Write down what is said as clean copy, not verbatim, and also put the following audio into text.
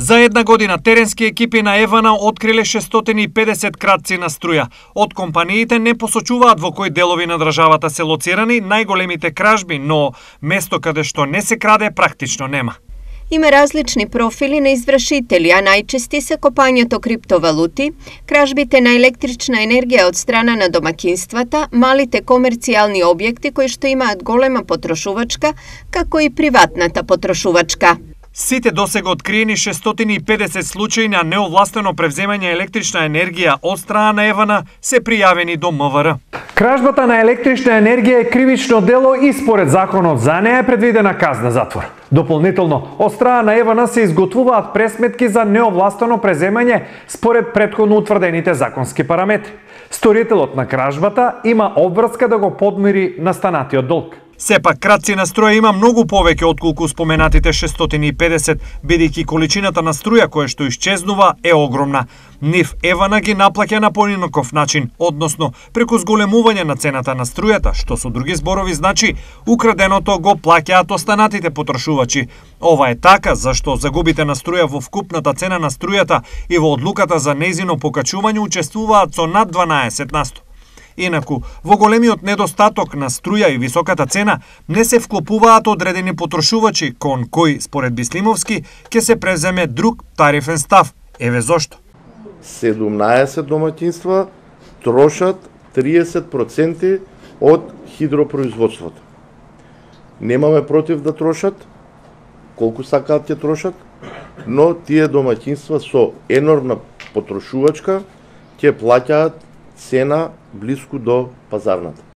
За една година теренски екипи на Евана откриле 650 кратци на струја. Од компаниите не посочуваат во кои делови на државата се лоцирани најголемите кражби, но место каде што не се краде практично нема. Има различни профили на извршители, а најчести се копањето криптовалути, кражбите на електрична енергија од страна на домакинствата, малите комерцијални објекти кои што имаат голема потрошувачка, како и приватната потрошувачка. Сите досега откриени 650 случаи на неовластено превземање електрична енергија од страна на Евана се пријавени до МВР. Кражбата на електрична енергија е кривично дело и според законот за неа е предвидена казна затвор. Дополнително, од страна на Евана се изготвуваат пресметки за неовластено преземање според претходно утврдените законски параметри. Сторителот на кражбата има обврска да го подмири настанатиот долг. Сепак, кратци на струја има многу повеќе отколку споменатите 650, бидејќи количината на струја која што исчезнува е огромна. Нив Евана ги наплаќа на поинаков начин, односно преку зголемување на цената на струјата, што со други зборови значи украденото го плаќаат останатите потрошувачи. Ова е така зашто загубите на струја во вкупната цена на струјата и во одлуката за нејзино покачување учествуваат со над 12%. Инаку, во големиот недостаток на струја и високата цена не се вклопуваат одредени потрошувачи кон кои, според Бислимовски, ќе се преземе друг тарифен став. Еве зошто. 17 домаќинства трошат 30% од хидропроизводството. Немаме против да трошат, колку сакаат ќе трошат, но тие домаќинства со енормна потрошувачка ќе плаќаат цена блиску до пазарната.